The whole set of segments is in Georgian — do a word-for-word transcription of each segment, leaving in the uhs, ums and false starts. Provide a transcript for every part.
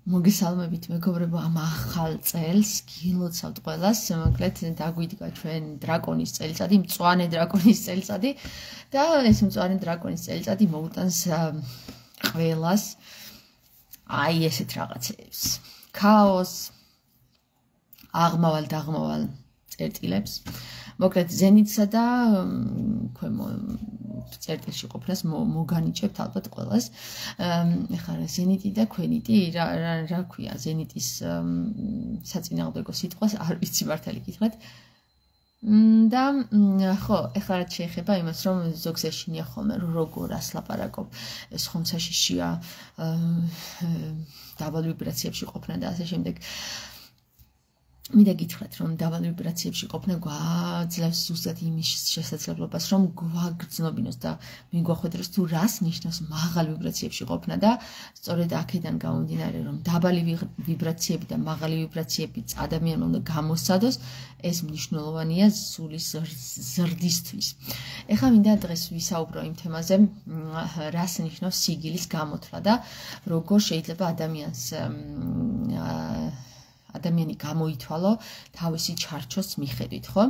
მოგესალმებით მეგობრებო, ამ ახალ წელს გილოცავთ ყველას, მოკლედ დაგვიდგა ჩვენ დრაკონის წელიწადი, მწვანე დრაკონის წელიწადი და ეს მწვანე დრაკონის წელიწადი მოუტანს ყველას აი ესეთ რაღაცებს. ქაოსს, აღმავალ დაღმავალ წერტილებს. მოკლედ ზენიტსა და ქვემო წერტილში ყოფნას მოგანიჭებთ ალბათ ყველას. ეხლა ზენიტი და ქვენიტი რა რა ქვია ზენიტის საწინააღმდეგო სიტყვას არ ვიცი მართალი გითხრათ. და ხო, ეხლა რაც შეეხება იმას, რომ ზოგს ეშინია ხოლმე როგორ ასლაპარაკობ, ეს ხომ საშიშია დაბალ ვიბრაციებში ყოფნა და ასე შემდეგ. მინდა გითხრათ, რომ დაბალ ვიბრაციებში ყოფნა გვაძლევს ზუსტად იმის შესაძლებლობას, რომ გვაგრძნობინოს და მიგვახვედროს თუ რას ნიშნავს მაღალ ვიბრაციებში ყოფნა და სწორედ აქედან გამომდინარე, რომ დაბალი ვიბრაციები და მაღალი ვიბრაციები ადამიანმა უნდა გამოსცადოს, ეს მნიშვნელოვანია სულის ზრდისთვის. ეხლა მინდა დღეს ვისაუბრო იმ თემაზე, რას ნიშნავს სიგილის გამოთვლა და როგორ შეიძლება ადამიანს ადამიანი გამოითვალო თავისი ჩარჩოს მიხედვით, ხო?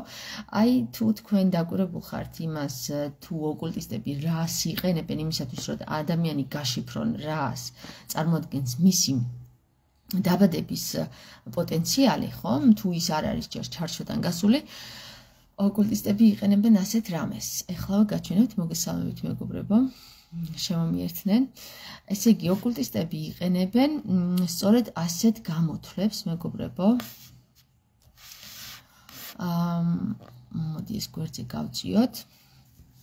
აი თუ თქვენ დაკვირვებულ ხართ იმას, თუ ოკულტისტები რას იყენებენ იმისათვის, რომ ადამიანი გაშიფრონ რას წარმოადგენს მისი დაბადების პოტენციალი, ხო? თუ ის არ არის ჯერ ჩარჩოდან გასული, ოკულტისტები იყენებენ ასეთ რამეს. ეხლა გაჩვენებთ, მოგესალმებით მეგობრებო. შემომიერთნენ. ესე იგი, ოკულტისტები იყენებენ სწორედ ასეთ გამოთვლებს, მეგობრებო. აა, მოდი ეს გვერდზე გავწიოთ.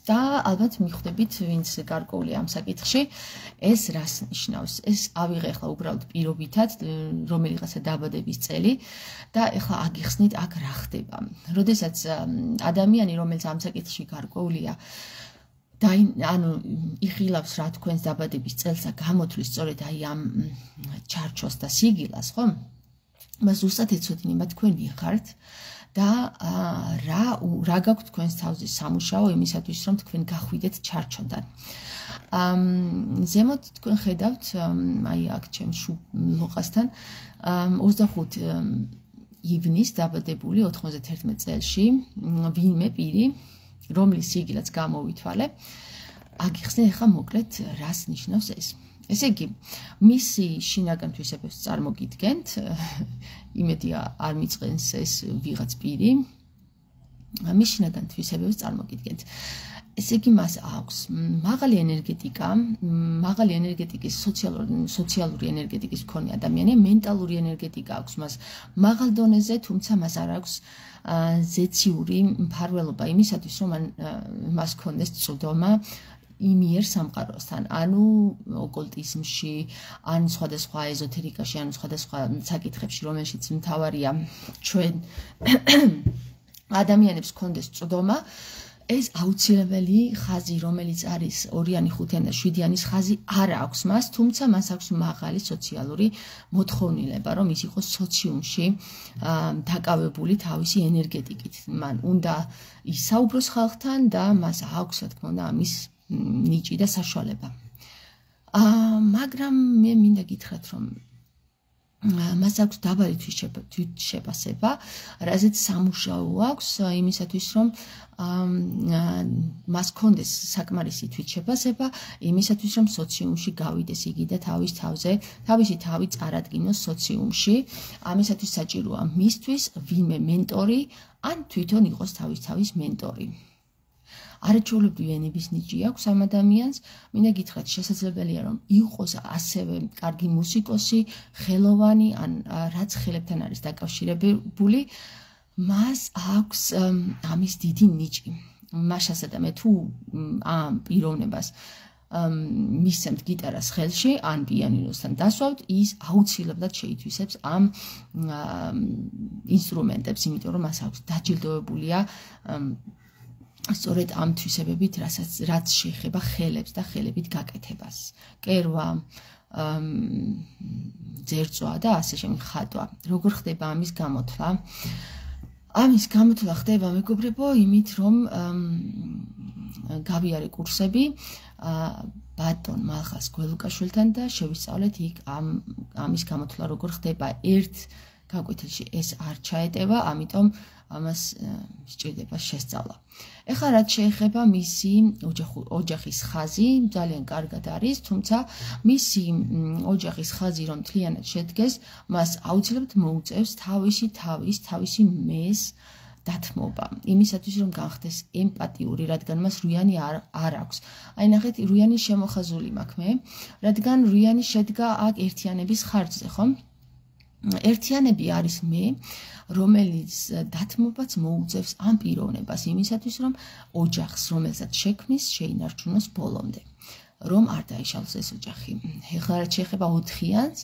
და ალბათ მიხვდებით, ვინც გარკვეული ამ საკითხში, ეს რას ნიშნავს. ეს ავიღე ახლა უბრალოდ პირობითად, რომელიღაცა დაბადების წელი და ახლა აგიხსნით აქ რა ხდება. როდესაც ადამიანი, რომელიც ამ საკითხში გარკვეულია, და ანუ იხილავს რა თქვენს დაბადების წელს და გამოთვლის სწორედ აი ამ ჩარჩოს და სიგილას, ხო? მას ზუსტად ეცოდინება თქვენი ხართ და რა რა გაქვთ თქვენს თავზე სამუშაო იმისათვის, რომ თქვენ გახვიდეთ ჩარჩოდან. ზემოთ თქვენ ხედავთ, აი აქ ჩემ ლოყასთან ოცდახუთი ივნის დაბადებული ოთხმოცდათერთმეტ წელში ვინმე პირი, რომლის სიგილაც გამოვითვალე, აგიხსნე ახლა მოკლედ რას ნიშნავს ეს. ესე იგი, მისი შინაგან თვისებებს წარმოგიდგენთ, იმედია არ მიწყენს ეს ვიღაც პირი, მის შინაგან თვისებებს წარმოგიდგენთ. ესე იგი, მას აქვს მაღალი ენერგეტიკა, მაღალი ენერგეტიკის სოციალური ენერგეტიკის მქონე ადამიანი, მენტალური ენერგეტიკა აქვს მას მაღალ დონეზე, თუმცა მას არ აქვს ზეციური მფარველობა იმისათვის, რომ მას ჰქონდეს წვდომა იმიერ სამყაროსთან, ანუ ოკულტიზმში, ან სხვადასხვა ეზოთერიკაში, ან სხვადასხვა საკითხებში, რომელშიც მთავარია ჩვენ ადამიანებს ჰქონდეს წვდომა. ეს აუცილებელი ხაზი, რომელიც არის ორიანი, ხუთიანი და შვიდიანის ხაზი, არ აქვს მას, თუმცა მას აქვს მაღალი სოციალური მოთხოვნილება, რომ ის იყოს სოციუმში დაკავებული თავისი ენერგეტიკით. მან უნდა ისაუბროს ხალხთან და მას აქვს, რა თქმა უნდა, ამის ნიჭი და საშუალება. მაგრამ მე მინდა გითხრათ, რომ მას აქვს დაბალი თვითშეფასება, რაზეც სამუშაო აქვს იმისათვის, რომ მას ჰქონდეს საკმარისი თვითშეფასება, იმისათვის, რომ სოციუმში გავიდეს იგი და თავის თავზე, თავისი თავი წარადგინოს სოციუმში. ამისათვის საჭიროა მისთვის ვინმე მენტორი, ან თვითონ იყოს თავის თავის მენტორი. არაჩვეულებრივი ენების ნიჭი აქვს ამ ადამიანს. მინდა გითხრათ, შესაძლებელია, რომ იყოს ასევე კარგი მუსიკოსი, ხელოვანი, ან რაც ხელებთან არის დაკავშირებული, მას აქვს ამის დიდი ნიჭი. მაშასა და მე თუ ამ პიროვნებას მისცემთ გიტარას ხელში, ან პიანინოსთან დასვავთ, ის აუცილებლად შეითვისებს ამ ინსტრუმენტებს, იმიტომ რომ მას აქვს დაჯილდოებულია სწორედ ამ თვისებებით, რასაც რაც შეეხება ხელებს და ხელებით გაკეთებას. კერვა, ძერწვა და ასე შემდეგ ხატვა. როგორ ხდება ამის გამოთვლა? ამის გამოთვლა ხდება, მეგობრებო, იმით, რომ გავიარე კურსები, ბატონ მალხას გველუკაშვილთან და შევისწავლეთ იქ ამ ამის გამოთვლა როგორ ხდება. ერთ გაკვეთილში ეს არ ჩაეტევა, ამიტომ ამას სჭირდება შესწავლა. ეხლა რაც შეეხება მისი ოჯახის ხაზი, ძალიან კარგად არის, თუმცა მისი ოჯახის ხაზი რომ მთლიანად შედგეს, მას აუცილებლად მოუწევს თავისი თავის, თავისი მეს დათმობა. იმისათვის რომ განხდეს ემპათიური, რადგან მას რუიანი არ, არ აქვს. აი ნახეთ, რუიანი შემოხაზული მაქვს მე, რადგან რუიანი შედგა აქ ერთიანების ხარჯზე, ხო? ერთიანები არის მე, რომელიც დათმობაც მოუწევს ამ პიროვნებას იმისათვის, რომ ოჯახს, რომელსაც შექმნის, შეინარჩუნოს ბოლომდე. რომ არ დაიშალოს ეს ოჯახი. ეხლა რაც შეეხება ოთხიანს,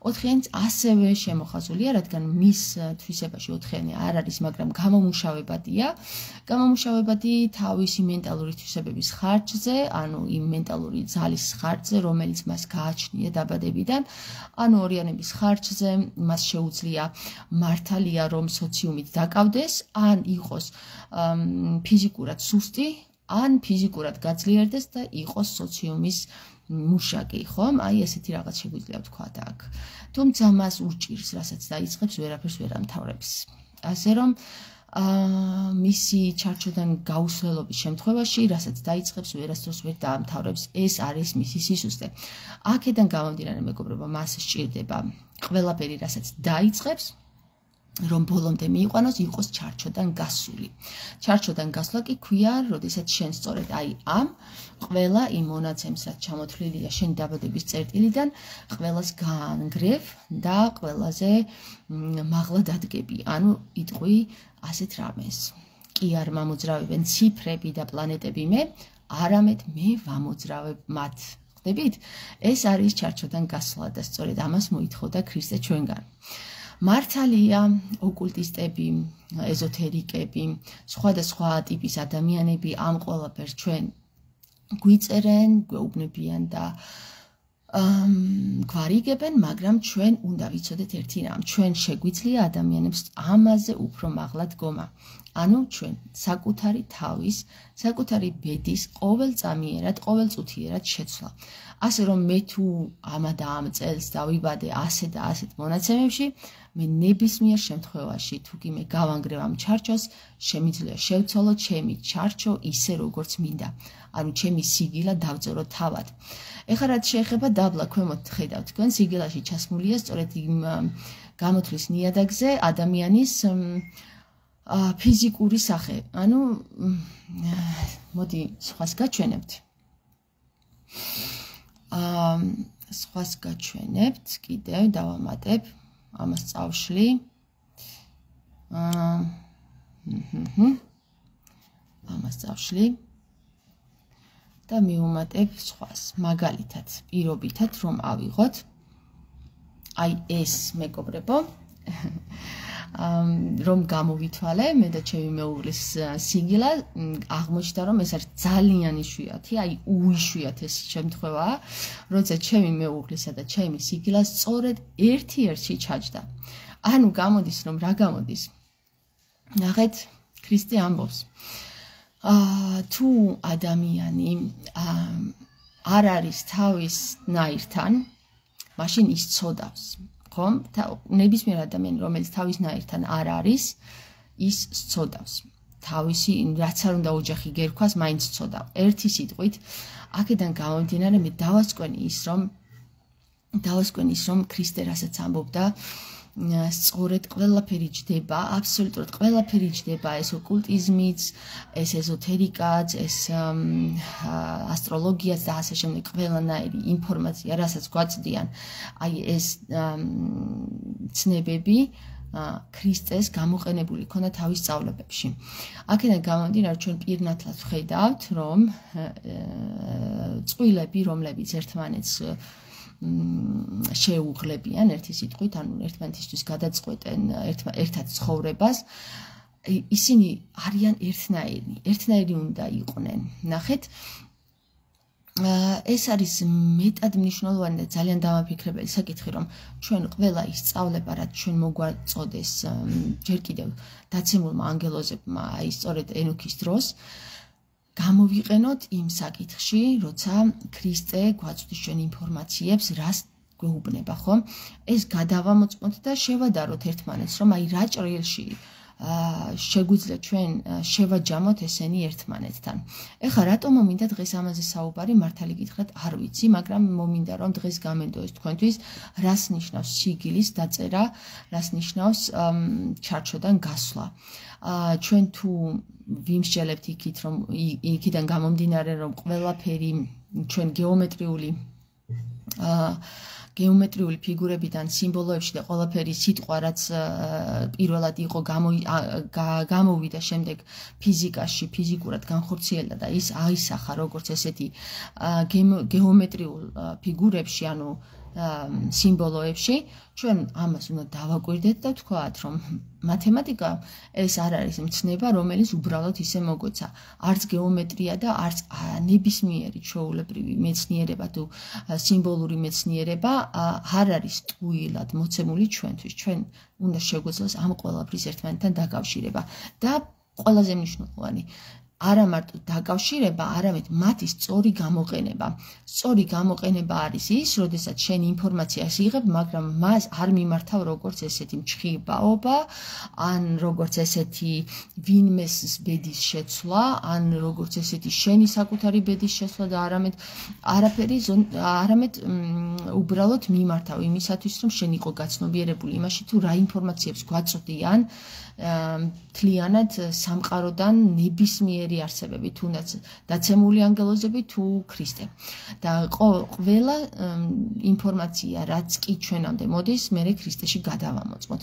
ოთხიანიც ასევე შემოხაზულია, რადგან მის თვისებაში ოთხიანი არ არის, მაგრამ გამომუშავებადია. გამომუშავებადი თავისი მენტალური თვისებების ხარჯზე, ანუ იმ მენტალური ძალის ხარჯზე, რომელიც მას გააჩნია დაბადებიდან, ანუ ორიანების ხარჯზე, მას შეუძლია მართალია, რომ სოციუმით დაკავდეს, ან იყოს ფიზიკურად სუსტი, ან ფიზიკურად გაძლიერდეს და იყოს სოციუმის მუშაკი, ხომ? აი ესეთი რაღაც შეგვიძლია ვთქვათ აქ. თუმცა მას ურჭირს, რასაც დაიწყებს, ვერაფერს ვერ ამთავრებს. ასე რომ მისი ჩარჩოდან გაუსვლელობის შემთხვევაში, რასაც დაიწყებს, ვერასდროს ვერ დაამთავრებს, ეს არის მისი სისუსტე. აქედან გამომდინარე, მეგობრებო, მას სჭირდება ყველაფერი, რასაც დაიწყებს, რომ ბოლომდე მიიყვანოს, იყოს ჩარჩოდან გასული. ჩარჩოდან გასვლა კი ქვია, როდესაც შენ სწორედ აი ამ ყველა იმ მონაცემს, რაც ჩამოთვლილია შენი დაბადების წერტილიდან, ყველას გაანგრევ და ყველაზე მაღლა დადგები. ანუ იტყვი ასეთ რამეს. კი არ მომოძრავებენ ციფრები და პლანეტები მე, არამედ მე ვამოძრავებ მათ. ხდებით? ეს არის ჩარჩოდან გასვლა და სწორედ ამას მოითხოვდა ქრისტე ჩვენგან. მართალია ოკულტისტები, ეზოთერიკები, სხვადასხვა ტიპის ადამიანები ამ ყველაფერს ჩვენ გვიწერენ, გვეუბნებიან და გვარიგებენ, მაგრამ ჩვენ უნდა ვიცოდეთ ერთი რამ, ჩვენ შეგვიძლია ადამიანებს ამაზე უფრო მაღლა დგომა. ანუ ჩვენ საკუთარი თავის, საკუთარი ბედის ყოველწამიერად, ყოველწუთიერად შეცვლა. ასე რომ მე თუ ამა და ამ წელს დავიბადე ასე და ასეთ მონაცემებში, მე ნებისმიერ შემთხვევაში თუ კი მე გავანგრევ ამ ჩარჩოს, შემიძლია შევცვალო ჩემი ჩარჩო ისე როგორც მინდა. ანუ ჩემი სიგილა დავწერო თავად. ეხლა რაც შეეხება დაბლა ქვემოთ ხედავთ თქვენ სიგილაში ჩასმულია სწორედ იმ გამოთვლის ნიადაგზე ადამიანის ფიზიკური სახე. ანუ მოდი სხვას გაჩვენებთ. აა სხვას გაჩვენებთ, კიდევ დავამატებ, ამას წავშლი. აა ამას წავშლი. და მივუმატებ სხვას, მაგალითად, პირობითად რომ ავიღოთ. აი ეს მეგობრებო, რომ გამოვითვალე, მე და ჩემი მეუღლის სიგილა, აღმოჩნდა რომ ეს არის ძალიან იშვიათი, აი უიშვიათეს შემთხვევაა, როცა ჩემი მეუღლისა და ჩემი სიგილა სწორედ ერთ-ერთში ჩაჯდა. ანუ გამოდის რომ რა გამოდის? ნახეთ, ქრისტე ამბობს. თუ ადამიანი არ არის თავის ნაირთან, მაშინ ის ცოდავს. ხომ? ნებისმიერ ადამიანი, რომელიც თავის ნაირთან არ არის, ის ცოდავს. თავისი, რაც არ უნდა ოჯახი გერქვას, მაინც ცოდავ. ერთი სიტყვით, აქედან გამომდინარე, მე დავასკვენი ის, რომ დავასკვენი ის, რომ ქრისტე რასაც ამბობდა, სწორედ ყველაფერი ჯდება, აბსოლუტურად ყველაფერი ჯდება, ეს ოკულტიზმიც, ეს ეზოთერიკაც, ეს ასტროლოგიაც და ასე შემდეგ, ყველანაირი ინფორმაცია, რასაც გვაწვდიან, აი ეს ცნებები ქრისტეს გამოყენებული ქონდა თავის სწავლებებში. აქედან გამომდინარე, ჩვენ პირნათლად ვხედავთ, რომ წყვილები, რომლებიც ერთმანეთს შეუღლებიან ერთი სიტყვით, ანუ ერთმანეთისთვის გადაწყვეტენ ერთად ცხოვრებას, ისინი არიან ერთნაირი, ერთნაირი უნდა იყვნენ. ნახეთ, ეს არის მეტად მნიშვნელოვანი და ძალიან დამაფიქრებელი საკითხი, რომ ჩვენ ყველა ის სწავლება, რაც ჩვენ მოგვაწოდეს ჯერ კიდევ დაცემულმა ანგელოზებმა, აი სწორედ ენოქის დროს, გამოვიყენოთ იმ საკითხში, როცა ქრისტე გვაწვდის ჩვენ ინფორმაციებს, რას გვეუბნება, ხო? ეს გადავამოწმოთ და შევადაროთ ერთმანეთს, რომ აი რა ჭრილში შეგვიძლია ჩვენ შევაჯამოთ ესენი ერთმანეთთან. ეხლა რატომ მომინდა დღეს ამაზე საუბარი, მართალი გითხრათ, არ ვიცი, მაგრამ მომინდა რომ დღეს გამენდო ეს თქვენთვის, რას ნიშნავს სიგილის დაწერა, რას ნიშნავს ჩარჩოდან გასვლა. ჩვენ თუ ვიმსჯელებთ იქით, რომ იქიდან გამომდინარე, რომ ყველაფერი ჩვენ გეომეტრიული გეომეტრიული ფიგურებიდან, სიმბოლოებში და ყველაფერი სიტყვა, რაც პირველად იყო გამოვიდა შემდეგ ფიზიკაში, ფიზიკურად განხორციელდა და ის აისახა როგორც ესეთი გეომეტრიულ ფიგურებში, ანუ სიმბოლოებში, ჩვენ ამას უნდა დავაკვირდეთ და ვთქვათ, რომ მათემატიკა ეს არ არის მცნება, რომელიც უბრალოდ ისე მოგვეცა. არც გეომეტრია და არც ნებისმიერი ჩვეულებრივი მეცნიერება თუ სიმბოლური მეცნიერება არ არის ტყუილად მოცემული ჩვენთვის. ჩვენ უნდა შეგვეძლოს ამ ყველაფრის ერთმანეთთან დაკავშირება და ყველაზე მნიშვნელოვანი არა მარტო დაკავშირება, არამედ მათი სწორი გამოყენება. სწორი გამოყენება არის ის, როდესაც შენ ინფორმაციას იღებ, მაგრამ მას არ მიმართავ როგორც ესეთი მჩხიბაობა, ან როგორც ესეთი ვინმეს ბედის შეცვლა, ან როგორც ესეთი შენი საკუთარი ბედის შეცვლა და არამედ არაფერი, არამედ უბრალოდ მიმართავ იმისათვის, რომ შენ იყო გაცნობიერებული იმაში, თუ რა ინფორმაციებს გვაწვდიან მთლიანად სამყაროდან ნებისმიერი არსებები, თუნდაც დაცემული ანგელოზები თუ ქრისტე. და ყველა ინფორმაცია, რაც კი ჩვენამდე მოდის, მერე ქრისტეში გადავამოწმოთ.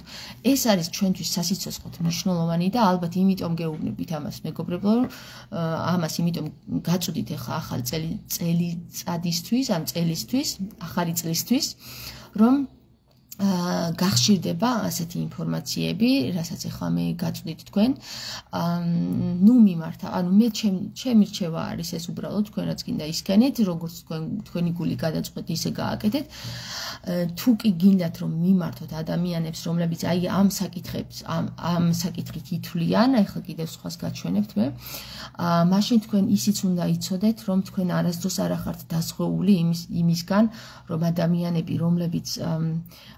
ეს არის ჩვენთვის სასიცოცხლოდ მნიშვნელოვანი და ალბათ იმიტომ გეუბნებით ამას, მეგობრებო, ამას იმიტომ გაწვდით ახლა ახალი წელიწადისთვის, ამ წელისთვის, ახალი წლისთვის, რომ გახშირდება ასეთი ინფორმაციები, რასაც ახლა მე გაწვდით თქვენ. ნუ მიმართა, ანუ მე ჩემი რჩევა არის ეს უბრალოდ თქვენ რაც გინდა ისქენეთ, როგორც თქვენ თქვენი გული გადაწყვეტ, ისე გააკეთეთ. თუ კი გინდათ რომ მიმართოთ ადამიანებს, რომლებიც აი ამ საკითხებს, ამ ამ საკითხით ითვლიან, ახლა კიდევ სხვას გაჩვენებთ მე. მაშინ თქვენ ისიც უნდა იცოდეთ, რომ თქვენ არასდროს არ ახართ დასხვეული იმისგან, რომ ადამიანები, რომლებიც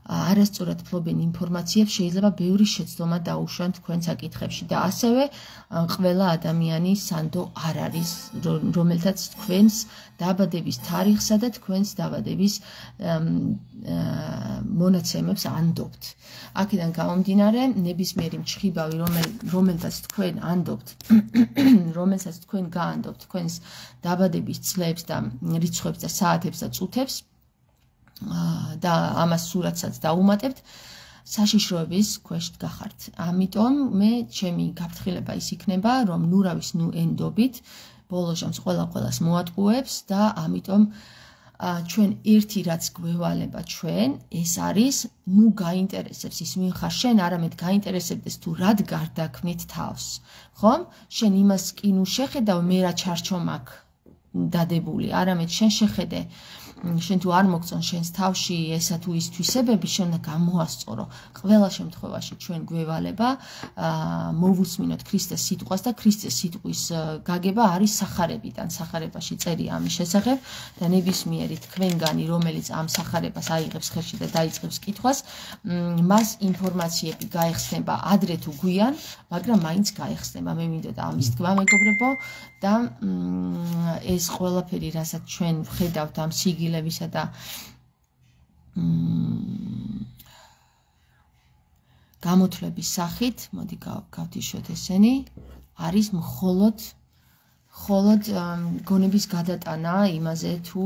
არასწორად ფლობენ ინფორმაციებს, შეიძლება ბევრი შეცდომა დაუშვან თქვენ საკითხებში და ასევე ყველა ადამიანი სანდო არ არის, რომელთაც თქვენს დაბადების თარიღსა და თქვენს დაბადების მონაცემებს ანდობთ. აქედან გამომდინარე, ნებისმიერი მჩხიბავი, რომელთაც თქვენ ანდობთ, რომელსაც თქვენ გაანდობთ თქვენს დაბადების წლებს და რიცხვებს და საათებს და წუთებს, და ამას სურათსაც დაუმატებთ, საშიშროების ქვეშ გახართ. ამიტომ მე ჩემი გაფრთხილება ის იქნება, რომ ნუ რავის ნუ ენდობით, ბოლო ჟამს ყველა ყველას მოატყუებს და ამიტომ ჩვენ ერთი რაც გვევალება ჩვენ, ეს არის ნუ გაინტერესებს ის ვინ ხარ შენ, არამედ გაინტერესებდეს თუ რად გარდაქმნით თავს. ხომ? შენ იმას კი ნუ შეხედავ, მე რა ჩარჩომ აქ დადებული, არამედ შენ შეხედე შენ თუ არ მოგწონ შენს თავში ესა თუ ის თვისებები, შენ უნდა გამოასწორო. ყველა შემთხვევაში ჩვენ გვევალება მოვუსმინოთ ქრისტეს სიტყვას და ქრისტეს სიტყვის გაგება არის სახარებიდან. სახარებაში წერია ამის შესახებ და ნებისმიერი თქვენგანი, რომელიც ამ სახარებას აიღებს ხელში და დაიწყებს კითხვას, მას ინფორმაციები გაეხსნება ადრე თუ გვიან, მაგრამ მაინც გაეხსნება. მე მინდოდა ამის თქვა, მეგობრებო, და ეს ყველაფერი, რასაც ჩვენ ვხედავთ ამ სიგილებისა და გამოთვლების სახით, მოდი გავთიშოთ ესენი, არის მხოლოდ მხოლოდ გონების გადატანა იმაზე თუ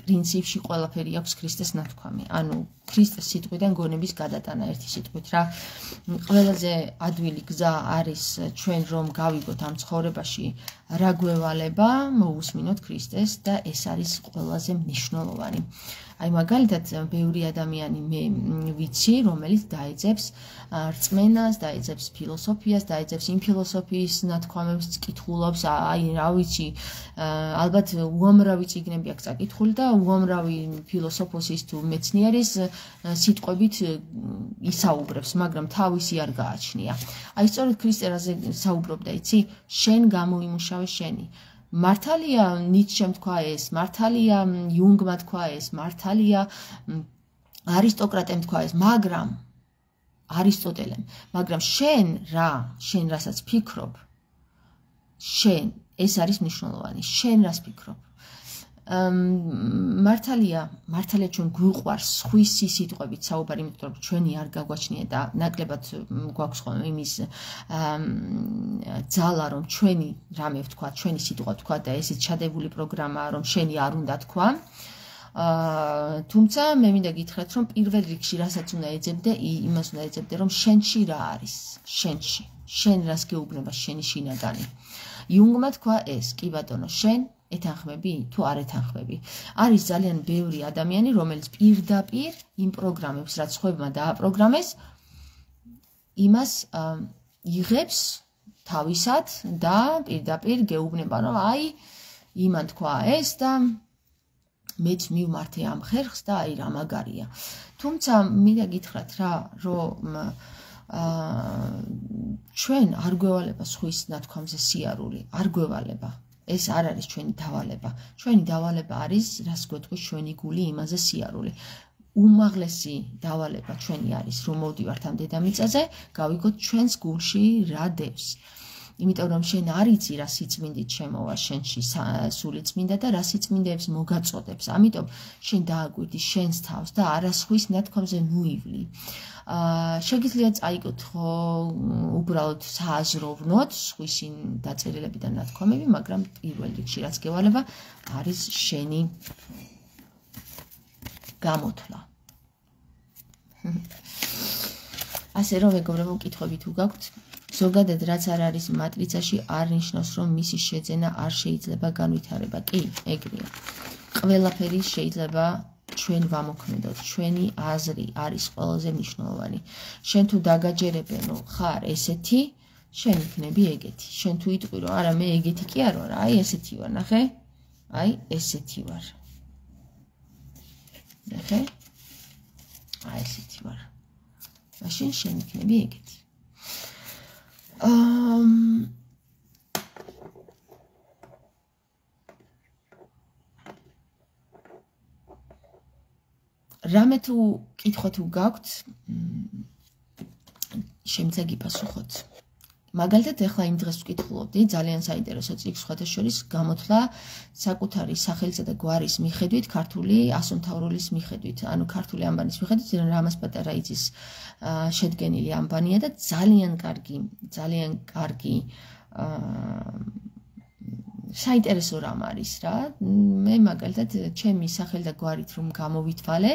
პრინციპში ყველაფერი აქვს ქრისტეს ნათქვამი. ანუ ქრისტეს სიტყვიდან გონების გადატანა ერთი სიტყვით რა. ყველაზე ადვილი გზა არის ჩვენ რომ გავიგოთ ამ ცხოვრებაში რა გვევალება, მოვუსმინოთ ქრისტეს და ეს არის ყველაზე მნიშვნელოვანი. აი მაგალითად ბევრი ადამიანი მე ვიცი, რომელიც დაეძებს რწმენას, დაეძებს ფილოსოფიას, დაეძებს იმ ფილოსოფიის ნათქვამებს, კითხულობს, აი რა ვიცი, ალბათ უამრავი წიგნები აქვს წაკითხული და უამრავი ფილოსოფოსის თუ მეცნიერის სიტყვებით ისაუბრებს, მაგრამ თავისი არ გააჩნია. აი სწორედ ქრისტერაზე საუბრობდა, იცი, შენ გამოიმუშავე შენი. მართალია ნიცშემ თქვა ეს, მართალია იუნგმა თქვა ეს, მართალია არისტოკრატემ თქვა ეს, მაგრამ არისტოტელემ, მაგრამ შენ რა, შენ რასაც ფიქრობ, შენ ეს არის მნიშვნელოვანი, შენ რას ფიქრობ. მართალია, მართალია ჩვენ გვიყვარს სხვისი სიტყვებით საუბარი, იმიტომ რომ ჩვენი არ გაგვაჩნია და ნაკლებად გვაქვს ხოლმე იმის ძალა, რომ ჩვენი რამე ვთქვა, ჩვენი სიტყვა ვთქვა და ესეც ჩადებული პროგრამაა, რომ შენი არ უნდა თქვა. თუმცა მე მინდა გითხრათ, რომ პირველ რიგში რასაც უნდა ეძებდე, იმას უნდა ეძებდე, რომ შენში რა არის, შენში, შენ რას გეუბნება შენი შინაგანი. იუნგმა თქვა ეს, კი ბატონო, შენ ეთანხმები თუ არ ეთანხმები. არის ძალიან ბევრი ადამიანი, რომელიც პირდაპირ იმ პროგრამებს, რაც ხვებმა დააპროგრამეს, იმას იღებს თავისად და პირდაპირ გეუბნება, რომ აი, იმან თქვა ეს და მეც მივმართე ამ ხერხს და აი რა მაგარია. თუმცა მინდა გითხრათ რა, რომ ჩვენ არ გვევალება სხვის ნათქვამზე სიარული, არ გვევალება. ეს არ არის ჩვენი დავალება. ჩვენი დავალება არის, რას გვეთქვის ჩვენი გული იმაზე სიარული. უმაღლესი დავალება ჩვენი არის, რომ მოვდივართ ამ დედამიწაზე, გავიგოთ ჩვენს გულში რა დევს. იმიტომ რომ შენ არ იცი რა სიწმინდით შემოვა შენში სული წმინდა და რა სიწმინდეებს მოგაწოდებს. ამიტომ შენ დააკვირდი შენს თავს და არა სხვის ნათქვამზე ნუივლი. შეგიძლია წაიკითხო უბრალოდ სააზროვნოთ სხვისი დაწერილები და ნათქვამები, მაგრამ პირველ რიგში რაც გევალება არის შენი გამოთვლა. ასე რომ მეგობრებო, კითხვები თუ გაქვთ, ზოგადად რაც არ არის მატრიცაში არ ნიშნავს, რომ მისი შეძენა არ შეიძლება განვითარება. კი, ეგრეა. ყველაფერი შეიძლება ჩვენ ვამოქმედოთ, ჩვენი აზრი არის ყველაზე მნიშვნელოვანი. შენ თუ დაგაჯერებენო ხარ ესეთი, შენ იქნები ეგეთი. შენ თუ იტყვი რომ არა მე ეგეთი კი არ ვარ, აი ესეთი ვარ, ნახე? აი ესეთი ვარ. ნახე? აი ესეთი ვარ. მაშინ შენ იქნები ეგეთი. Um რამე თუ კითხვა თუ გაქვთ, შემდეგი პასუხოთ. მაგალითად, ეხლა იმ დღეს ვკითხულობდი, ძალიან საინტერესო წიგნს, სხვათა შორის გამოთვლა საკუთარი სახელისა და გვარის მიხედვით, ქართული ასომთავრულის მიხედვით, ანუ ქართული ანბანის მიხედვით, რამას პატარაიძის შედგენილი ანბანია და ძალიან კარგი, ძალიან კარგი საინტერესო რამ არის რა. მე მაგალითად ჩემი სახელი და გვარით რომ გამოვითვალე,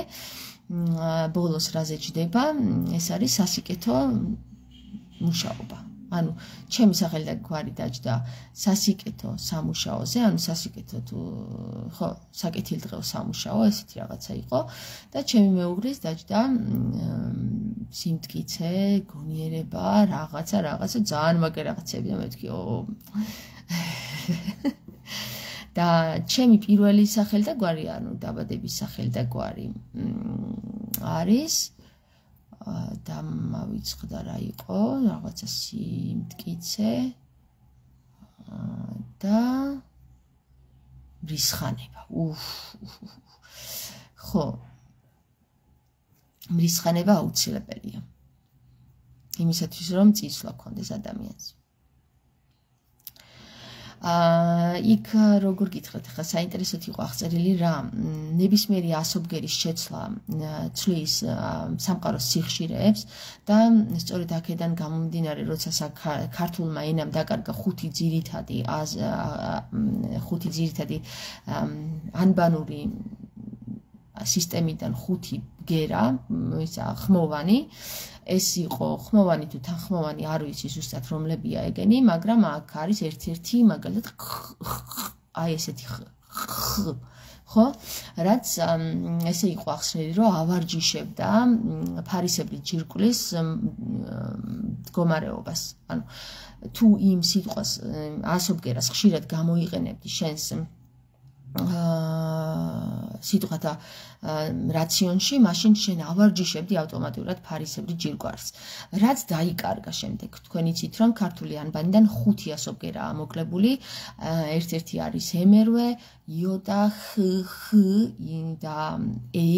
ბოლოს რაზე ჯდება, ეს არის სასიკეთო მუშაობა. ანუ ჩემი სახელი და გვარი დაჯდა სასიკეთო სამუშაოზე, ანუ სასიკეთო თუ ხო, საკეთილდღეო სამუშაო, ესეთი რაღაცა იყო და ჩემი მეუღლის დაჯდა სიმტკიცე, გონიერება, რაღაცა, რაღაცა, ძალიან მაგარი რაღაცები და მეთქი, ო და ჩემი პირველი სახელი და გვარი, ანუ დაბადების სახელი და გვარი არის და მავიწყდა რა იყო, რაღაცა სიმტკიცე და მრისხანება. უფ. ხო. მრისხანება აუცილებელია. იმისათვის რომ წისვლა გქონდეს ადამიანს. იქ როგორ გითხრათ, ხა საინტერესოდ იყო აღწერილი რა, ნებისმიერი ასობგერის შეცვლა ცვლის სამყაროს სიხშირეებს და სწორედ აქედან გამომდინარე, როცა ქართულმა ენამ დაკარგა ხუთი ძირითადი ხუთი ძირითადი ანბანური სისტემიდან ხუთი ბგერა, ისა ხმოვანი, ეს იყო ხმოვანი თუ თანხმოვანი, არ ვიცი ზუსტად რომლებია ეგენი, მაგრამ აქ არის ერთ-ერთი მაგალითად აი ესეთი ხო? რაც ესე იყო ახსნილი, რომ ავარჯიშებდა ფარისებრი ჯირკვლის მდგომარეობას. ანუ თუ იმ სიტყვას ასობგერას ხშირად გამოიყენებდი შენს სიტყვა და რაციონში, მაშინ შენ ავარჯიშებდი ავტომატურად ფარისებრი ჯირკვარს. რაც დაიკარგა შემდეგ, თქვენ იცით, რომ ქართული ანბანიდან ხუთი ასობგერაა მოკლებული, ერთ-ერთი არის ემერვე, ი და ხ, ხ და ე.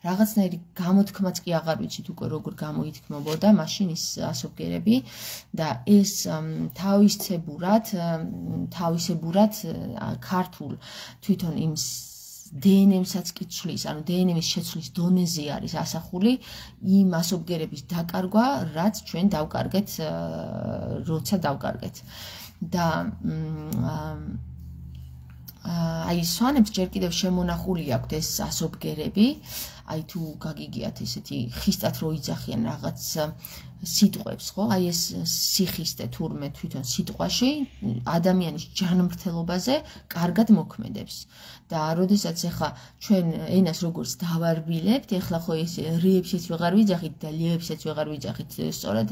რაღაცნაირი გამოთქმაც კი აღარ ვიცით უკვე როგორ გამოითქმობოდა მაშინ ის ასობგერები და ეს თავისებურად თავისებურად ქართულ თვითონ იმ დე ენ ემსაც კი ცვლის, ანუ დე ენ ემის შეცვლის დონეზე არის ასახული იმ ასობგერების დაკარგვა, რაც ჩვენ დავკარგეთ, როცა დავკარგეთ. და აი სვანებს ჯერ კიდევ შემონახული აქვთ ეს ასობგერები, აი თუ გაგიგიათ ესეთი ხისტად რო იძახიან რაღაც სიტყვებს, ხო? აი ეს სიხისტე თურმე თვითონ სიტყვაში ადამიანის ჯანმრთელობაზე კარგად მოქმედებს. და როდესაც ახლა ჩვენ ენას როგორც დავარბილებთ, ახლა ხო ეს რიებშიც ვეღარ ვიძახით და ლიებშიც ვეღარ ვიძახით, სწორედ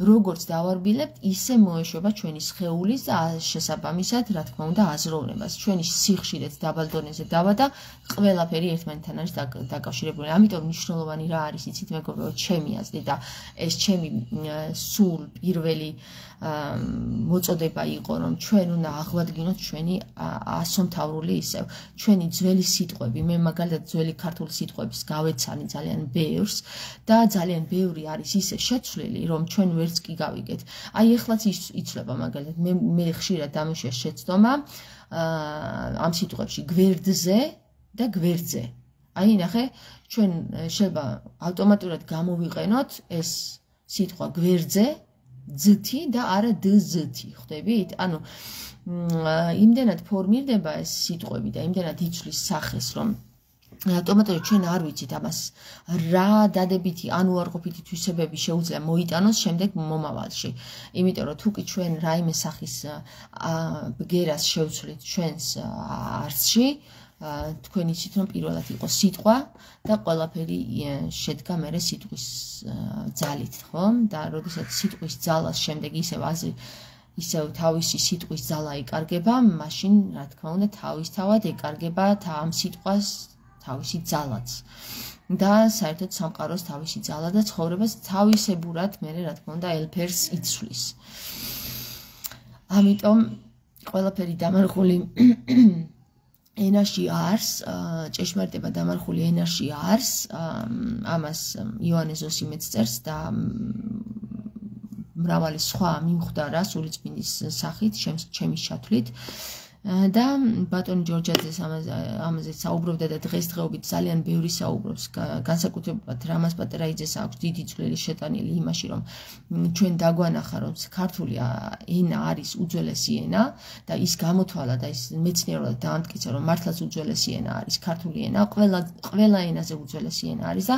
როგორც დავარბილებთ, ისე მოეშვება ჩვენი სხეულის და შესაბამისად, რა თქმა უნდა, აზროვნებას. ჩვენი სიხშირეც დაბალ დონეზე დავა და ყველაფერი ერთმანეთთან არის დაკავშირებული. ამიტომ მნიშვნელოვანი რა არის, იცით, მეგობრებო, ჩემი აზრით და ეს ჩემი სულ პირველი მოწოდება იყო, რომ ჩვენ უნდა აღვადგინოთ ჩვენი ასომთავრული ისევ. ჩვენი ძველი სიტყვები, მე მაგალითად ძველი ქართული სიტყვების გავეცანი ძალიან ბევრს და ძალიან ბევრი არის ისე შეცვლილი, რომ ჩვენ ვერც კი გავიგეთ. აი ეხლაც იცვლება მაგალითად, მე მე ხშირად დამუშია შეცდომა ამ სიტყვებში გვერდზე და გვერდზე. აი ნახე, ჩვენ შეიძლება ავტომატურად გამოვიყენოთ ეს სიტყვა გვერდზე ძთი და არა დ-ზთი, ხვდებით? ანუ იმდენად ფორმირდება ეს სიტყვები და იმდენად იცვლის სახეს, რომ ავტომატურად ჩვენ არ ვიცით ამას რა დადებითი ან უარყოფითი თვისებები შეუძლია მოიტანოს შემდეგ მომავალში. იმიტომ რომ თუ კი ჩვენ რაიმე სახის ბგერას შევცვლით ჩვენს არსში, თქვენ იცით, რომ პირველად იყო სიტყვა და ყველაფერი შედგა მერე სიტყვის ძალით, ხო? და როდესაც სიტყვის ძალას შემდეგ ისევ აზრი ისევ თავისი სიტყვის ძალა იკარგება, მაშინ რა თქმა უნდა თავისთავად ეკარგება ამ სიტყვას თავისი ძალაც. და საერთოდ სამყაროს თავისი ძალა და ცხოვრებას თავისებურად მერე რა თქმა უნდა ელფერს იცვლის. ამიტომ ყველაფერი დამარხული ენაში არის, ჭეშმარიტება დამარხული ენაში არის, ამას იოანე ზოსიმეც წერს და მრავალი სხვა მიმხვდარა სულიწმინდის სახით, ჩემის ჩათვლით. და ბატონი ჯორჯაძეს ამაზე საუბრობდა და დღესდღეობით ძალიან ბევრი საუბრობს, განსაკუთრებულად რამაზ პატერაიძეს აქვს დიდი წვლილი შეტანილი იმაში, რომ ჩვენ დაგვანახა, რომ ქართული ენა არის უძველესი ენა და ის გამოთვალა და ის მეცნიერულად დაამტკიცა, რომ მართლაც უძველესი ენა არის ქართული ენა, ყველა ყველა ენაზე უძველესი ენა არის და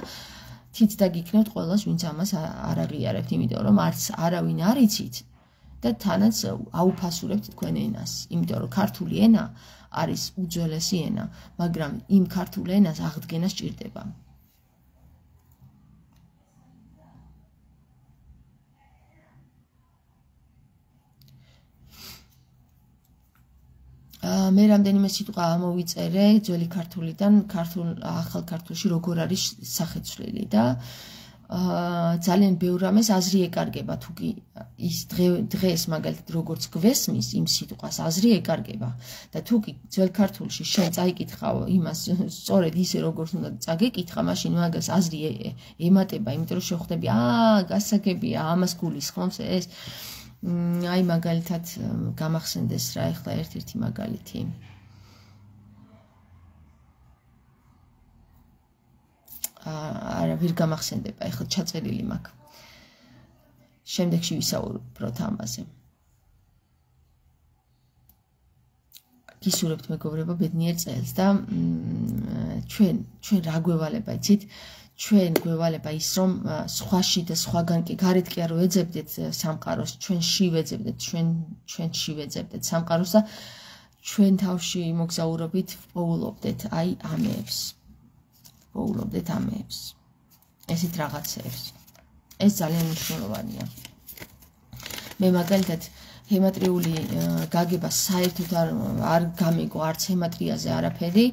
თით დაგიქნევთ ყველას, ვინც ამას არ აღიარებთ, იმიტომ რომ არც არავინ არ იცით და თანაც აუფასურებთ თქვენ ენას, იმიტომ რომ ქართული ენა არის უძველესი ენა, მაგრამ იმ ქართულ ენას აღდგენა სჭირდება. მე რამდენიმე სიტყვა ამოვიწერე ძველი ქართულიდან, ქართულ ახალ ქართულში როგორ არის სახეცვლილი და ძალიან ბევრ რამეს აზრი ეკარგება, თუ კი ის დღეს მაგალითად როგორც გვესმის იმ სიტყვას აზრი ეკარგება და თუ კი ძველ ქართულში შენ წაიკითხავ იმას სწორედ ისე როგორც უნდა წაგეკითხა, მაშინ მაგას აზრი ემატება, იმიტომ რომ შეხვდები, აა გასაგებია, ამას გულისხმობს ეს. აი მაგალითად გამახსენდეს რა ეხლა ერთ-ერთი მაგალითი. არა ვერ გამახსენდება, ეხლა ჩაწერილი მაქვს. შემდეგში ვისაუბროთ ამაზე. გისურვებთ მეგობრებო ბედნიერ წელს და ჩვენ ჩვენ რა გვევალება, იცით? ჩვენ გვევალება ის, რომ სხვაში და სხვაგან კი გარეთ კი არ ვეძებდეთ სამყაროს, ჩვენში ვეძებდეთ, ჩვენ ჩვენში ვეძებდეთ სამყაროს და ჩვენ თავში მოგზაურობით პოულობდეთ აი ამებს. პოულობდეთ ამებს. ესეთ რაღაცეებს. ეს ძალიან მნიშვნელოვანია. მე მაგალითად ჰემატრიული გაგება საერთოდ არ არ გამეგო არც ჰემატრიაზე არაფერი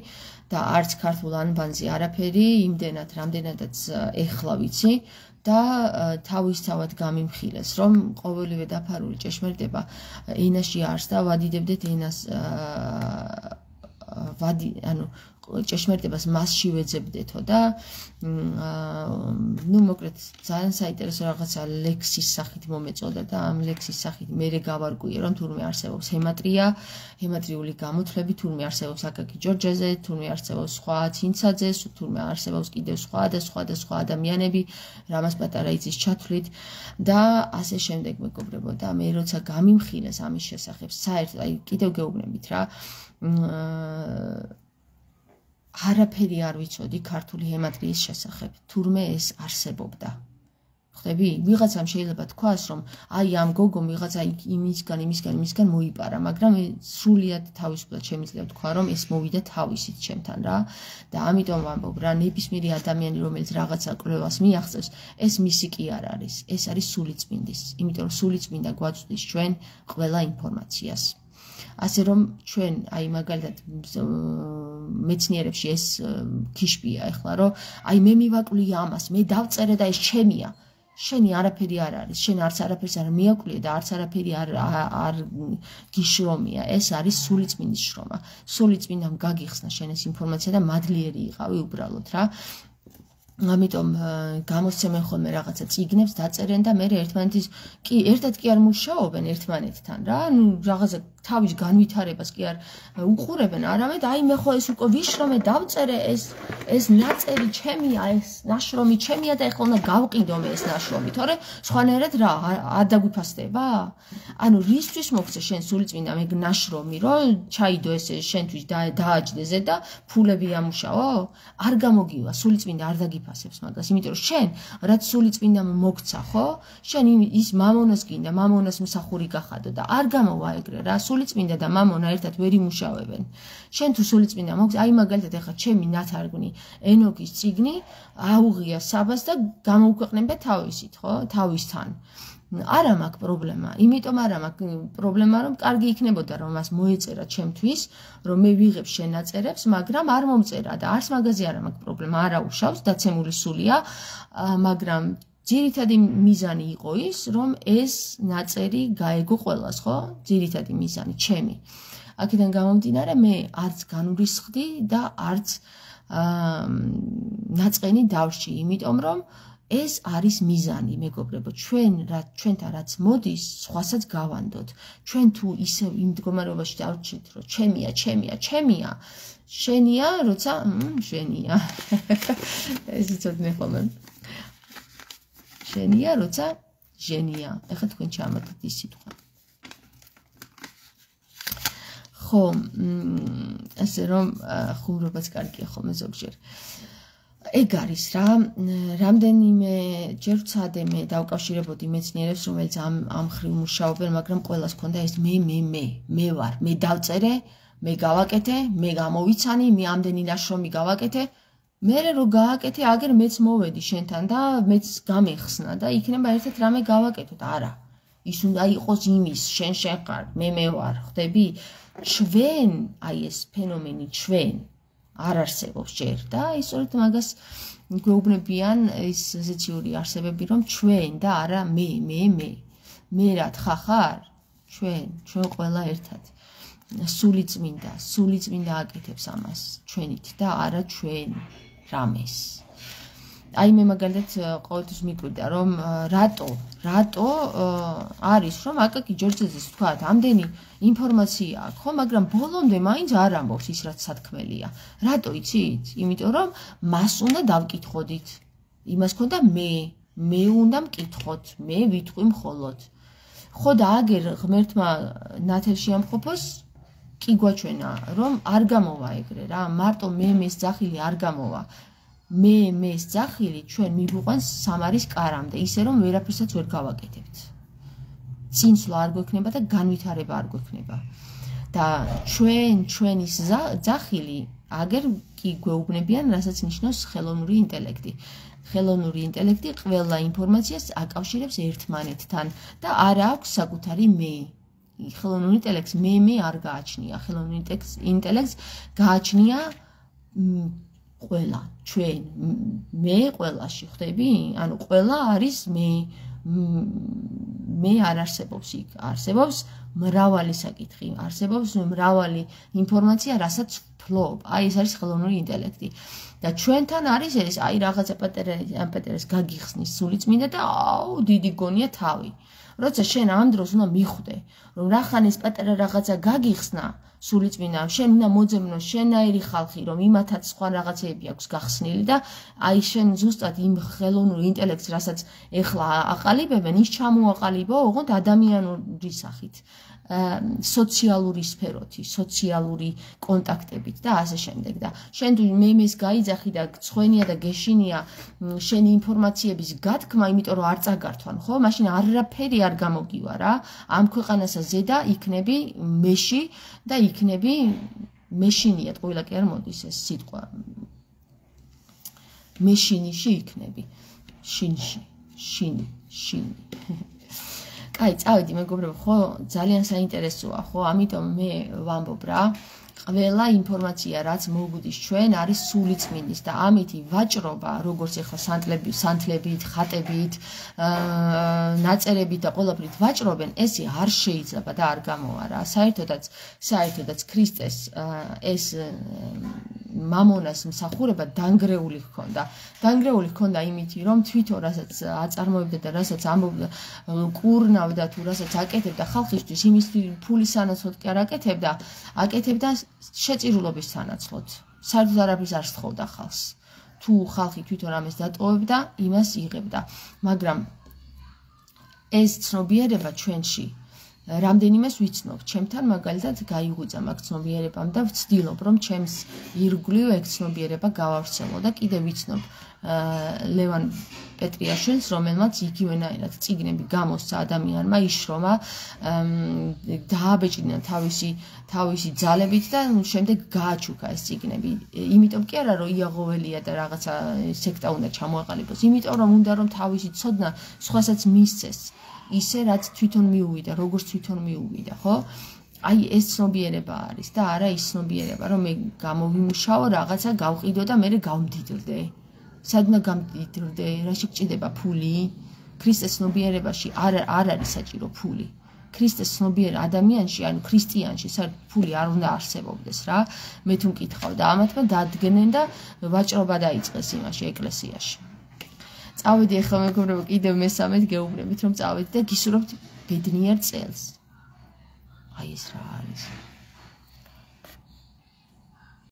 და არც ქართულ ანბანზე არაფერი, იმდენად, რამდენადაც ეხლა ვიცი და თავისთავად გამიმხილეს, რომ ყოველივე დაფარული ჭეშმარიტება ენაში არს და ვადიდებდეთ ენას ვადი, ანუ ჭეშმარიტებას მასში ვეძებდეთო და ნუ მოკლედ ძალიან საინტერესო რაღაცა ლექსის სახით მომეწოდა და ამ ლექსის სახით მერე გავარკვიე რომ თურმე არსებობს ჰემატრია, ჰემატრიული გამოთვლები, თურმე არსებობს აკაკი ჯორჯაძე, თურმე არსებობს სხვა ცინცაძე, თურმე არსებობს კიდევ სხვა და სხვა და სხვა ადამიანები რამაზ პატარაიძის ჩათვლით და ასე შემდეგ მეგობრებო და მე როცა გამიმხილეს ამის შესახებ საერთოდ აი კიდევ გეუბნებით რა არაფერი არ ვიცოდი ქართული ჰემატრიის შესახებ, თურმე ეს არსებობდა. ხვდები? ვიღაცამ შეიძლება თქვას, რომ აი ამ გოგომ ვიღაცა იმისგან, იმისგან, იმისგან მოიპარა, მაგრამ სრულიად თავისუფლად შემიძლია თქვა, რომ ეს მოვიდა თავისით ჩემთან რა. და ამიტომ ვამბობ რა, ნებისმიერი ადამიანი, რომელიც რაღაცა კვლევას მიაღწევს, ეს მისი კი არ არის. ეს არის სულიწმინდის. იმიტომ რომ სულიწმინდა გვაწვდის ჩვენ ყველა ინფორმაციას. ასე რომ ჩვენ აი მაგალითად მეცნიერებში ეს ქიშპია ეხლა რომ აი მე მივაკლი ამას, მე დავწერე და ეს ჩემია. შენი არაფერი არ არის, შენ არც არაფერს არ მიაკვლიე და არც არაფერი არ არ გიშრომია. ეს არის სულიწმინდის შრომა. სულიწმინდამ გაგიხსნა შენ ეს ინფორმაცია და მადლიერი იყავი უბრალოდ რა. ამიტომ გამოსცემენ ხოლმე რაღაცა წიგნებს დაწერენ და მე ერთმანეთის კი ერთად კი არ მუშაობენ ერთმანეთთან რა. ნუ რაღაცა თავის განვითარებას კი არ უყურებენ, არამედ აი მე ხო ეს უკვე ვიშრომე, დავწერე ეს ეს ნაწერი ჩემია, ეს ნაშრომი ჩემია და ეხლა უნდა გავყიდო მე ეს ნაშრომი, თორე სხვანაირად რა არ დაგვიფასდება? ანუ რისთვის მოგცე შენ სულიწმინდა მე ნაშრომი, რომ ჩაიდო ესე შენთვის დააჯდეზე და ფულები ამუშაო? არ გამოგივა, სულიწმინდა არ დაგიფასებს მაგას, იმიტომ რომ შენ რაც სულიწმინდამ მოგცა, ხო? შენ ის მამონას გინდა, მამონას მსახური გახადო და არ გამოვა ეგრე რა. სულიწმინდა და მამონა ერთად ვერ იმუშავებენ. შენ თუ სულიწმინდა მოგცა, აი მაგალითად ეხლა ჩემი ნათარგმნი ენოქის წიგნი აუღია საბას და გამოუქვეყნებდა თავისით, ხო? თავისთან. არა მაქვს პრობლემა, იმიტომ არა მაქვს პრობლემა, რომ კარგი იქნებოდა რომ მას მოეწერა ჩემთვის, რომ მე ვიღებ შენ ნაწერებს, მაგრამ არ მომწერა და არც მაგაზე არა მაქვს პრობლემა, არა უშავს, დაცემული სულია, მაგრამ ძირითადი მიზანი იყო ის, რომ ეს ნაწერი გაეგო ყველას, ხო? ძირითადი მიზანი ჩემი. აქედან გამომდინარე, მე არც განვრისხდი და არც ნაწყენი დავში, იმიტომ რომ ეს არის მიზანი, მეგობრებო, ჩვენ რა ჩვენთან რაც მოდის, სხვასაც გავანდოთ. ჩვენ თუ ისევ იმ მდგომარეობაში დავრჩით, რომ ჩემია, ჩემია, ჩემია, შენია, როცა შენია. ეს იცოდნენ ხოლმე. შენია, როცა ჟენია. ეხლა თქვენ ჩამატეთ ის სიტყვა. ხო, ასე რომ ხუმრობაც კარგია ხოლმე ზოგჯერ. ეგ არის რა, რამდენიმე ჯერ ვცადე მე დავკავშირებოდი მეცნიერებს, რომელიც ამ ამ მხრივ მუშაობენ, მაგრამ ყველას ჰქონდა ეს მე, მე, მე, მე ვარ, მე დავწერე, მე გავაკეთე, მე გამოვიცანი, მე ამდენი ნაშრომი გავაკეთე. მერე რო გააკეთე, აგერ მეც მოვედი შენთან და მეც გამეხსნა და იქნება ერთად რამე გავაკეთოთ. არა. ის უნდა იყოს იმის, შენ შენ ხარ, მე მე ვარ, ხვდები? ჩვენ, აი ეს ფენომენი ჩვენ არ არსებობს ჯერ და ისწორედ მაგას გვეუბნებიან ის ზეციური არსებები, რომ ჩვენ და არა მე, მე, მე. მე რა თხა ხარ? ჩვენ, ჩვენ ყველა ერთად. სულიწმინდა, სულიწმინდა აკეთებს ამას ჩვენით და არა ჩვენ რამეს. აი მე მაგალითად ყოველთვის მიკვირდა რომ რატო, რატო არის რომ აკაკი ჯორჯაძეს თქვათ, ამდენი ინფორმაცია აქვს, ხო, მაგრამ ბოლომდე მაინც არ ამბობს ის რაც სათქმელია. რატო იცით? იმიტომ რომ მას უნდა დავკითხოდით. იმას ქონდა მე, მე უნდა მკითხოთ, მე ვიტყვი მხოლოდ. ხო და აგერ ღმერთმა ნათელში ამყოფოს კი გვაჩვენა, რომ არ გამოვა ეგრე რა, მარტო მე მეს ძახილი არ გამოვა. მე მეს ძახილი ჩვენ მიგვიყვანს სამარის კარამდე, ისე რომ ვერაფერსაც ვერ გავაკეთებთ. წინსვლა არ გვექნება და განვითარება არ გვექნება. და ჩვენ ჩვენის ძახილი აგერ კი გვეუბნებიან, რასაც ნიშნავს ხელოვნური ინტელექტი. ხელოვნური ინტელექტი ყველა ინფორმაციას აკავშირებს ერთმანეთთან და არ აქვს საკუთარი მე. ხელოვნურ ინტელექტს მე მე არ გააჩნია, ხელოვნურ ინტელექტს გააჩნია ყველა, ჩვენ, მე ყველაში ხდები? ანუ ყველა არის მე, მე არ არსებობს იქ, არსებობს მრავალი საკითხი, არსებობს მრავალი ინფორმაცია, რასაც ვფლობ. აი ეს არის ხელოვნური ინტელექტი. და ჩვენთან არის ეს, აი რაღაცა პატერას გაგიხსნის სულიწმინდა და აუ დიდი გონია თავი. როცა შენ ამ დროს უნდა მიხვდე, რომ რახან ეს პატარა რაღაცა გაგიხსნა სულიწმინდა, შენ უნდა მოძებნო შენაირი ხალხი, რომ იმათაც სხვა რაღაცეები აქვს გახსნილი და აი შენ ზუსტად იმ ხელოვნურ ინტელექტს, რასაც ეხლა აყალიბებენ, ის ჩამოაყალიბო ოღონდ ადამიანური სახით. სოციალური სფეროთი, სოციალური კონტაქტებით და ასე შემდეგ და შენ თუ მემეს გაიძახი და გცხვენია და გეშინია შენი ინფორმაციების გათქმა, იმიტომ რომ არ წაგართვან, ხო? მაშინ არაფერი არ გამოგივა რა. ამ ქვეყანასა ზედა იქნები მეში და იქნები მეშინიათ, ყველა კი არ მოდის ეს სიტყვა. მეშინიში იქნები. შინში, შინი, შინი. აი, წავედი მეგობრებო, ხო, ძალიან საინტერესოა, ხო, ამიტომ მე ვამბობ რა, ყველა ინფორმაცია, რაც მოგვდის ჩვენ, არის სულიწმინდის და ამითი ვაჭრობა, როგორც ეხლა სანთლები, სანთლებით, ხატებით, ნაწერებით და ყველაფრით ვაჭრობენ, ესე არ შეიძლება და არ გამოვა რა. საერთოდაც, საერთოდაც ქრისტეს ეს მამონას მსახურება დანგრეული ჰქონდა. დანგრეული ჰქონდა იმითი, რომ თვითონ რასაც აწარმოებდა და რასაც ამბობდა, კურნავდა თუ რასაც აკეთებდა ხალხისთვის, იმის ფულის სანაცვლოდ კი არ აკეთებდა, აკეთებდა შეწირულობის სანაცვლოდ. საერთოდ არაფერს არ სთხოვდა ხალხს. თუ ხალხი თვითონ ამას დატოვებდა, იმას იღებდა. მაგრამ ეს ცნობიერება ჩვენში რამდენიმეს ვიცნობ, ჩემთან მაგალითად გაიღვიძა მაგ ცნობიერებამ და ვცდილობ, რომ ჩემს ირგვლივ ეგ ცნობიერება გავავრცელო და კიდევ ვიცნობ ლევან პეტრიაშვილს, რომელმაც იგივენაირად წიგნები გამოსცა ადამიანმა, იშრომა, დააბეჭდნა თავისი თავისი ძალებით და შემდეგ გააჩუქა ეს წიგნები. იმიტომ კი არა, რომ იაღოველია და რაღაცა სექტა უნდა ჩამოაყალიბოს, იმიტომ რომ უნდა რომ თავისი ცოდნა სხვასაც მისცეს. ისე რაც თვითონ მიუვიდა, როგორც თვითონ მიუვიდა, ხო? აი ეს ცნობიერება არის და არა ის ცნობიერება, რომ მე გამოვიმუშაო, რაღაცა გავყიდო და მე გავმდიდრდე. სადმა გამდიდრდე, რაში გჭირდება ფული? ქრისტეს ცნობიერებაში არ არ არის საჭირო ფული. ქრისტეს ცნობიერ ადამიანში, ანუ ქრისტიანში, საერთოდ ფული არ უნდა არსებობდეს რა. მე თუ მკითხავ და ამათმა დადგნენ და ვაჭრობა დაიწყეს იმაში ეკლესიაში. წავედი ახლა მეგობრებო, კიდევ მესამედ გეუბნებით, რომ წავედი და გისურვებთ ბედნიერ წელს. აი ეს რა არის?